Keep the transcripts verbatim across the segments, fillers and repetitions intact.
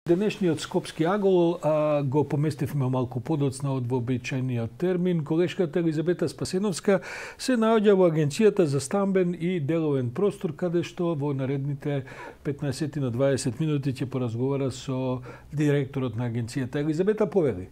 Денешниот скопски агол а, го поместивме малку подоцна од вообичаениот термин. Колешката Елизабета Спасеновска се наоѓа во Агенцијата за стамбен и деловен простор, каде што во наредните петнаесет на дваесет минути ќе поразговара со директорот на агенцијата. Елизабета, повели.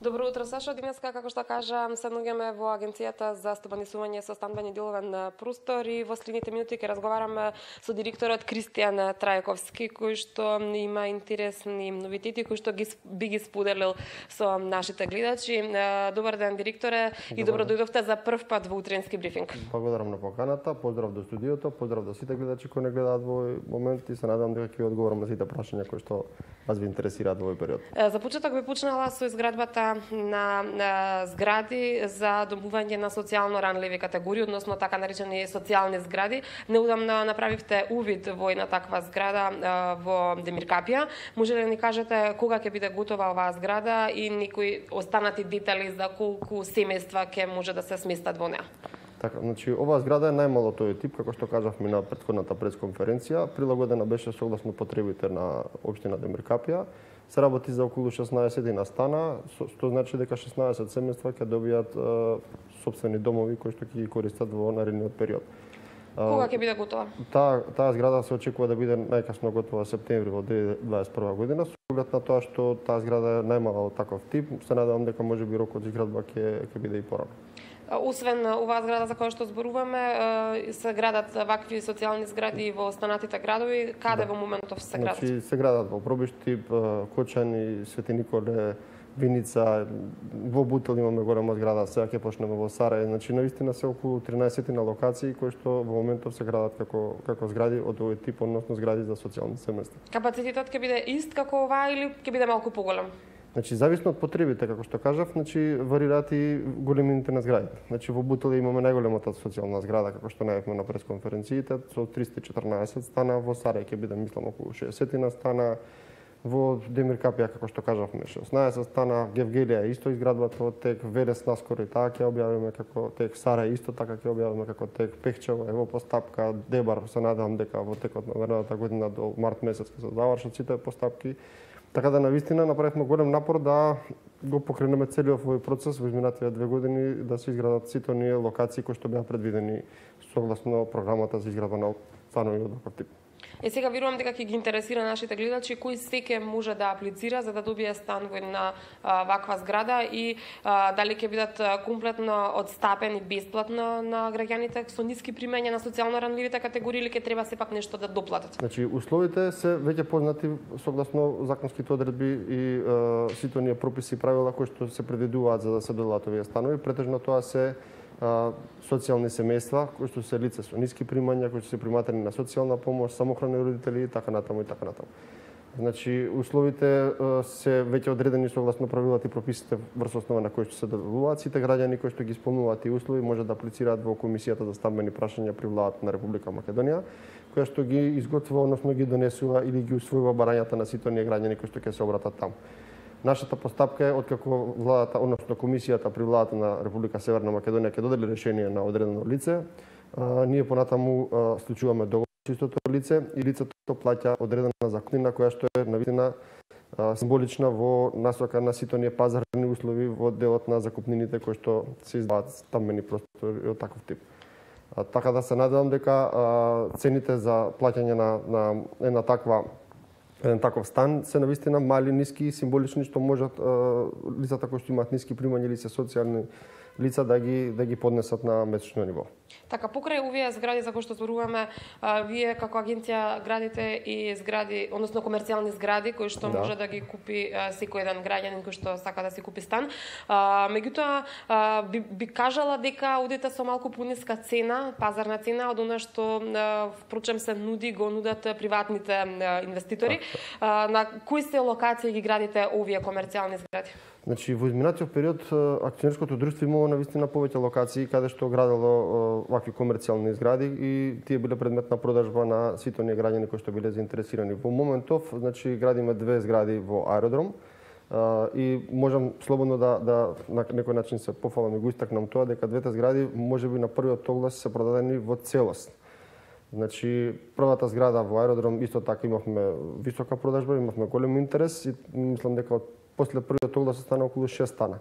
Добро утро, Сашо. Денеска, како што кажа, се наоѓаме во Агенцијата за стабанисување со стамбен и деловен простор и во следните минути ќе разговараме со директорот Кристијан Трајковски, кој што има интересни новитети кои што ги би ги споделил со нашите гледачи. Добар ден, директоре, и добро дојдовте за прв пат во утренски брифинг. Благодарам на поканата, поздрав до студиото, поздрав до сите гледачи кои не гледаат во овој момент и се надевам дека ќе одговорам на сите прашања кои што вас ви интересираат во овој период. За почеток би почнала со изградбата на, на згради за домување на социјално ранливи категории, односно така наречени социјални згради. Неудамно направивте увид во една таква зграда во Демиркапија. Може ли да ни кажете кога ќе биде готова оваа зграда и некои останати детали за колку семејства ќе може да се сместат во неа? Така, значи оваа зграда е најмало тој тип, како што кажавме на претходната пресконференција, прилагодена беше согласно потребите на општина Демиркапија. Се работи за околу шеснаесет настана, што значи дека шеснаесет семејства ќе добијат е, сопствени домови кои што ќе ги користат во наредниот период. Кога ќе биде готова? Таа таа зграда се очекува да биде најкасно готова септември во две илјади дваесет и прва година, со оглед на тоа што таа зграда е најмала од таков тип. Се надевам дека можеби рокот за изградба ќе ќе биде и порано. Освен оваа зграда за која што зборуваме, се градат вакви социјални згради во останатите градови. Каде да. Во моментов се градат? Значи, се градат во Пробишти, Кочани, Свети Николе, Виница, во Бутел имаме голема зграда, сега ќе почнеме во Сарај. Значи, навистина се околу тринаесет на локации кои што во моментов се градат како како згради од овој тип, односно згради за социјални семејства. Капацитетот ќе биде ист како оваа или ќе биде малку поголем? Значи, зависно од потребите, како што кажав, значи варираат и големините на зградите. Значи, во Бутел имаме најголемата социјална зграда, како што најавме на пресконференциите, со триста и четрнаесет стана, во Сарај ќе биде, мислам, околу шеесет стана, во Демиркапија, како што кажавме, шеснаесет стана, Гевгелија исто изградбата од тек, Велес наскоро и таа ќе објавиме како тек, Сарај исто така ќе објавиме како тек, Пехчево е во постапка, Дебар, се надевам дека во текот на наредната година до март месец ќе се завршат сите постапки. Така да навистина направивме голем напор да го покренеме целиот овој процес во изминативе две години, да се изградат сите оние локации кои што беа предвидени согласно програмата за изградба на станови од таков тип. Е, сега верувам дека ќе ги интересира нашите гледачи кој секој може да аплицира за да добие стан во една а, ваква зграда и а, дали ќе бидат комплетно одстапени бесплатно на граѓаните со ниски примања на социјално ранливите категории или ќе треба сепак нешто да доплатат? Значи, условите се веќе познати согласно законските одредби и а, сите оние прописи и правила кои што се предвидуваат за да се доделат овие станови. Претежно тоа се а, социјални семејства, кои што се лица со ниски примања, кои што се приматени на социјална помош, самохрани родители и така натаму и така натаму. Значи, условите а, се веќе одредени согласно правилата и прописите врз основа на кои што се доделуваат. Сите граѓани кои што ги исполнуваат и услови може да аплицираат во Комисијата за стамбени прашања при владата на Република Македонија, која што ги изготвува, односно ги донесува или ги усвојува барањата на сите оние граѓани кои што ќе се обратат таму. Нашата постапка е откако владата, односно комисијата при владата на Република Северна Македонија ќе додели решение на одредено лице, а, ние понатаму а, склучуваме договор со истото лице и лицето плаќа одредена закупнина која што е навистина символична во насока на сите оние пазарни услови во делот на закупнините кои што се издаваат стамбени простори од таков тип. А, така да се надевам дека а, цените за плаќање на, на една таква еден таков стан се навистина мали, ниски, символични, што можат е, лицата кои што имаат ниски примања или се социјални лица да ги да ги поднесат на месечно ниво. Така, покрај овие згради за кои што зборуваме, а, вие како агенција градите и згради, односно комерцијални згради кои што да. Може да ги купи а, секој еден граѓанин кој што сака да си купи стан. А, меѓутоа а, би, би кажала дека одите со малку пониска цена, пазарна цена од она што а, впрочем се нуди, го нудат приватните а, инвеститори. А, на кои се локации ги градите овие комерцијални згради? Значи, во изминатиот период акционерското друштво имало навистина повеќе локации каде што градело вакви комерцијални згради и тие биле предмет на продажба на сите оние граѓани кои што биле заинтересирани. Во моментов, значи, градиме две згради во аеродром и можам слободно да, да на некој начин се пофалам и го истакнам тоа дека двете згради можеби на првиот оглас се продадени во целост. Значи, првата зграда во аеродром исто така имавме висока продажба, имавме голем интерес и мислам дека од после првиот оглас стана околу шест стана.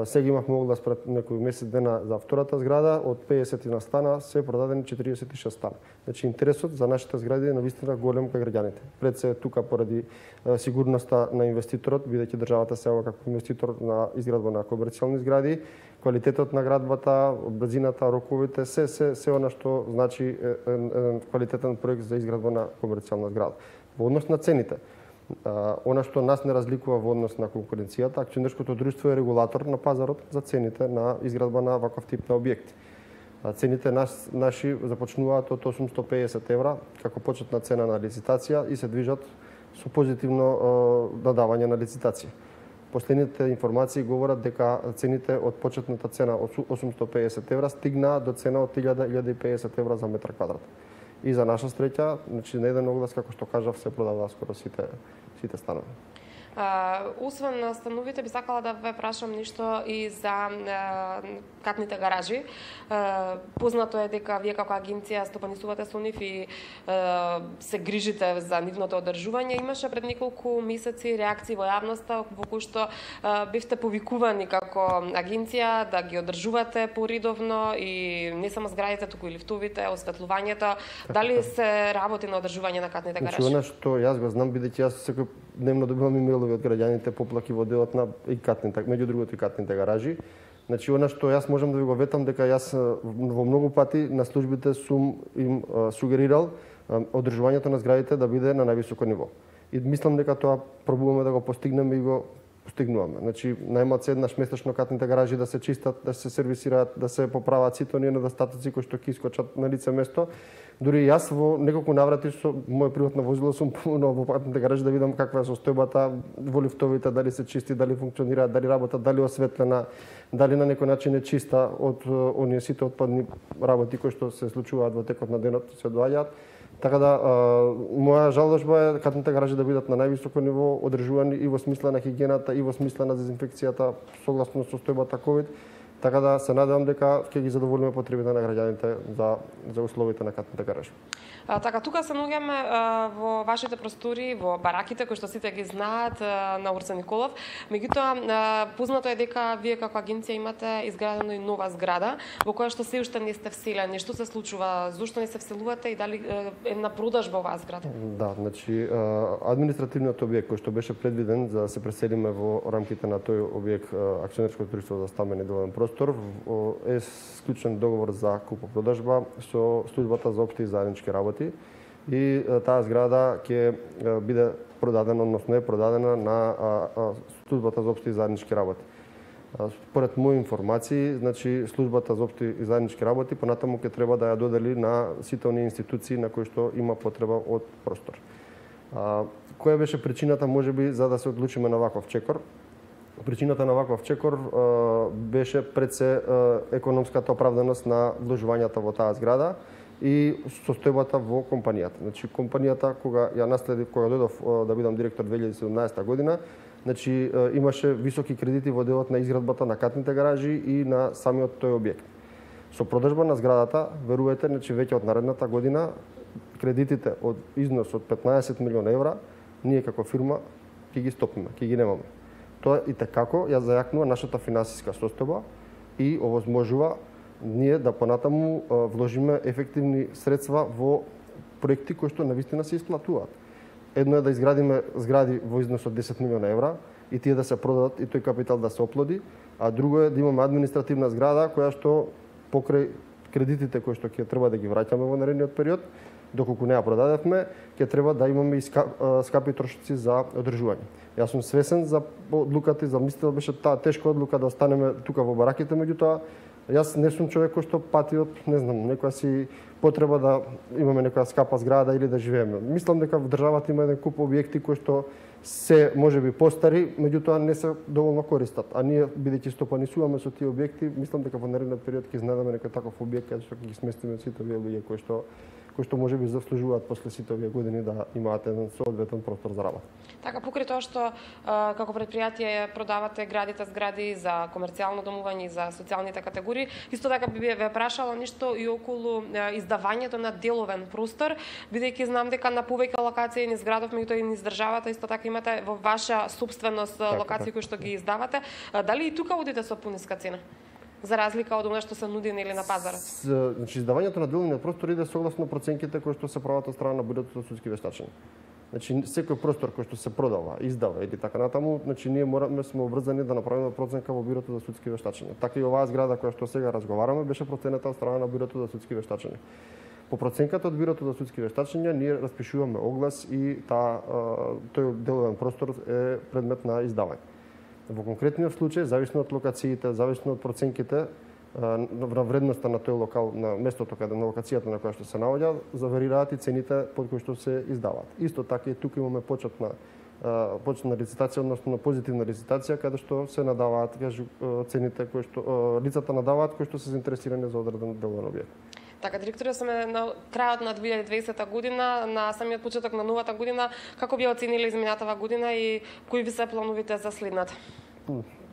Сега имавме оглас пред некои месец дена за втората зграда, од педесет на стана се продадени четириесет и шест стана. Значи интересот за нашите згради е навистина голем кај граѓаните. Пред се тука поради сигурноста на инвеститорот, бидејќи државата се ова како инвеститор на изградба на комерцијални згради, квалитетот на градбата, брзината, роковите, се се се она што значи еден квалитетен проект за изградба на комерцијална зграда. Во однос на цените, она што нас не разликува во однос на конкуренцијата, акционерското друштво е регулатор на пазарот за цените на изградба на ваков тип на објекти. Цените нас, наши започнуваат од осумстотини и педесет евра како почетна цена на лицитација и се движат со позитивно додавање на лицитација. Последните информации говорат дека цените од почетната цена од осумстотини и педесет евра стигнаа до цена од илјада до илјада и педесет евра за метар квадрат. И за наша среќа, значи на еден оглас, како што кажав, се продава скоро сите сите станови. Uh, освен на становите, би сакала да ве прашам ништо и за uh, катните гаражи. Uh, познато е дека вие како агенција стопанисувате со нив и uh, се грижите за нивното одржување. Имаше пред неколку месеци реакции во јавноста во кои што uh, бивте повикувани како агенција да ги одржувате поредовно и не само зградите, туку и лифтовите, осветлувањето. Дали се работи на одржување на катните гаражи? Значи, она што јас го знам, бидејќи јас секој дневно добивам имейлови од граѓаните поплаки во делот на и катните, меѓу другото и катните гаражи. Значи, она што јас можам да ви го ветам дека јас во многу пати на службите сум им сугерирал одржувањето на зградите да биде на највисоко ниво. И мислам дека тоа пробуваме да го постигнеме и го постигнуваме. Значи, најмалку еднаш месечно катните гаражи да се чистат, да се сервисираат, да се поправат сите оние недостатоци кои што ќе искочат на лице место. Дури јас во неколку наврати со моје приватно возило сум поминал во катните гаражи да видам каква е состојбата во лифтовите, дали се чисти, дали функционираат, дали работат, дали осветлена, дали на некој начин е чиста од оние сите отпадни работи кои што се случуваат во текот на денот, се доаѓаат. Така да, а, моја жалошба е катните гаражи да бидат на највисоко ниво, одржувани и во смисла на хигиената, и во смисла на дезинфекцијата, согласно состојбата ковид. Така да се надевам дека ќе ги задоволиме потребите на граѓаните за за условите на катните гаражи. А, така, тука се наоѓаме во вашите простори, во бараките кои што сите ги знаат а, на Урса Николов. Меѓутоа, познато е дека вие како агенција имате изградена и нова зграда во која што се уште не сте вселени. Што се случува? Зошто не се вселувате и дали е на продажба оваа зграда? Да, значи административниот објект кој што беше предвиден за да се преселиме во рамките на тој објект акционерско друштво за стамбен и деловен простор е склучен договор за купо-продажба со службата за општи и заеднички работи и таа зграда ќе биде продадена, односно е продадена на службата за општи и заеднички работи. Според мои информации, значи службата за општи и заеднички работи понатаму ќе треба да ја додели на сите оние институции на кои што има потреба од простор. Која беше причината можеби за да се одлучиме на ваков чекор? Причината на ваков чекор беше пред се економската оправданост на вложувањата во таа зграда и состојбата во компанијата. Значи компанијата кога ја наследив, кога дојдов да бидам директор две илјади и седумнаесета година, значи имаше високи кредити во делот на изградбата на катните гаражи и на самиот тој објект. Со продажба на зградата, верувајте, значи веќе од наредната година кредитите од износ од петнаесет милиони евра ние како фирма ќе ги стопиме, ќе ги немаме. Тоа и tekako ја зајакнува нашата финансиска состојба и овозможува ние да понатаму вложиме ефективни средства во проекти кои што навистина се исплатуваат. Едно е да изградиме згради во износ од десет милиони евра и тие да се продадат и тој капитал да се оплоди, а друго е да имаме административна зграда која што покрај кредитите кои што ќе треба да ги враќаме во наредниот период, доколку не ја продадевме, ќе треба да имаме и скапи трошоци за одржување. Јас сум свесен за одлуката и за мислите беше таа тешка одлука да останеме тука во бараките, меѓутоа јас не сум човек кој што пати од, не знам, некоја си потреба да имаме некоја скапа зграда или да живееме. Мислам дека во државата има еден куп објекти кои што се можеби постари, меѓутоа не се доволно користат. А ние бидејќи стопанисуваме со тие објекти, мислам дека во наредниот период ќе изненадаме некој таков објект каде што ќе ги сместиме сите овие луѓе кои што кои што можеби заслужуваат после сите овие години да имаат еден соодветен простор за работа. Така, покрај тоа што а, како предпријатие продавате, градите згради за комерцијално домување и за социјалните категории, исто така би ве прашала ништо и околу а, издавањето на деловен простор, бидејќи знам дека на повеќе локации низ градов, меѓутоа и низ државата исто така имате во ваша собственост така, локации кои што ги издавате. А, дали и тука одите со пониска цена? За разлика од она што се нуди нели на пазарот. Значи издавањето на деловниот простор иде согласно проценките кои што се прават од страна на бюрото за судски вештачења. Значи секој простор кој што се продава, издава или така натаму, значи ние мораме сме обврзани да направиме проценка во бюрото за судски вештачења. Така и оваа зграда која што сега разговараме беше проценета од страна на бюрото за судски вештачења. По проценката од бюрото за судски вештачења ние распишуваме оглас и таа тој деловен простор е предмет на издавање. Во конкретниот случај, зависно од локациите, зависно од проценките на вредноста на тој локал, на местото каде на локацијата на која што се наоѓа, заварираат и цените под кои што се издаваат. Исто така и тука имаме почетна почетна лицитација, односно позитивна лицитација каде што се надаваат кажу цените кои што лицата надаваат кои што се заинтересирани за одреден деловен објект. Така, директоре, сме на крајот на две илјади и дваесета година, на самиот почеток на новата година. Како би оцениле изминатава година и кои ви се плановите за следната?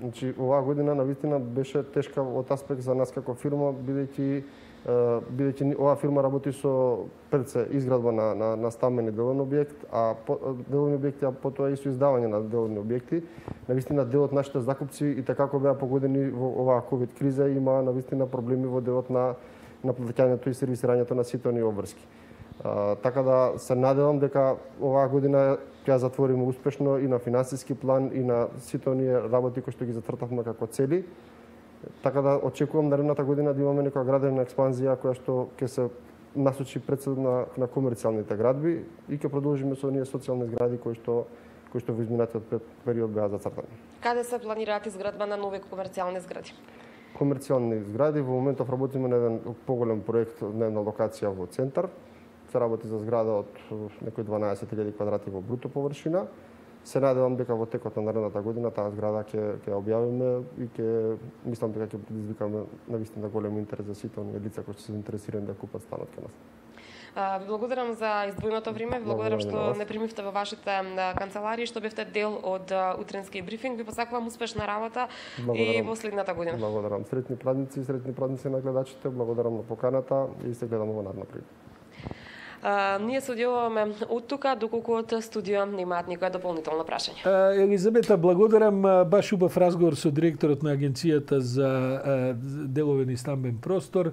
Значи, оваа година навистина беше тешка од аспект за нас како фирма, бидејќи бидејќи оваа фирма работи со пред се изградба на на на стамбен и деловен објект, а по, деловни објекти, а потоа и со издавање на деловни објекти. Навистина дел од нашите закупци и така како беа погодени во оваа ковид криза има навистина проблеми во делот на на плаќањето и сервисирањето на сите оние обврски. А, така да се надевам дека оваа година ќе ја затвориме успешно и на финансиски план и на сите оние работи кои што ги зацртавме како цели. Така да очекувам наредната година да имаме некоја градивна експанзија која што ќе се насочи пред се на, на комерцијалните градби и ќе продолжиме со оние социјални згради кои што кои што во изминатиот период беа зацртани. Каде се планираат изградба на нови комерцијални згради? Комерцијални згради во моментов работиме на еден поголем проект на една локација во центар. Се работи за зграда од некои дванаесет илјади квадрати во бруто површина. Се надевам дека во текот на наредната година таа зграда ќе ќе објавиме и ќе мислам дека ќе предизвикаме навистина голем интерес за сите оние лица кои се заинтересирани да купат станот кај нас. Ви благодарам за издвоеното време, ви благодарам што не примивте во вашите канцеларии, што бевте дел од утренски брифинг. Ви посакувам успешна работа и во следната година. Благодарам. Среќни празници, среќни празници на гледачите. Благодарам на поканата и се гледаме во наредна прилика. Uh, ние се одјавуваме од тука, доколку од студио немаат никоја дополнително прашање. Uh, Елизабета, благодарам. Баш убав разговор со директорот на Агенцијата за uh, деловен и стамбен простор.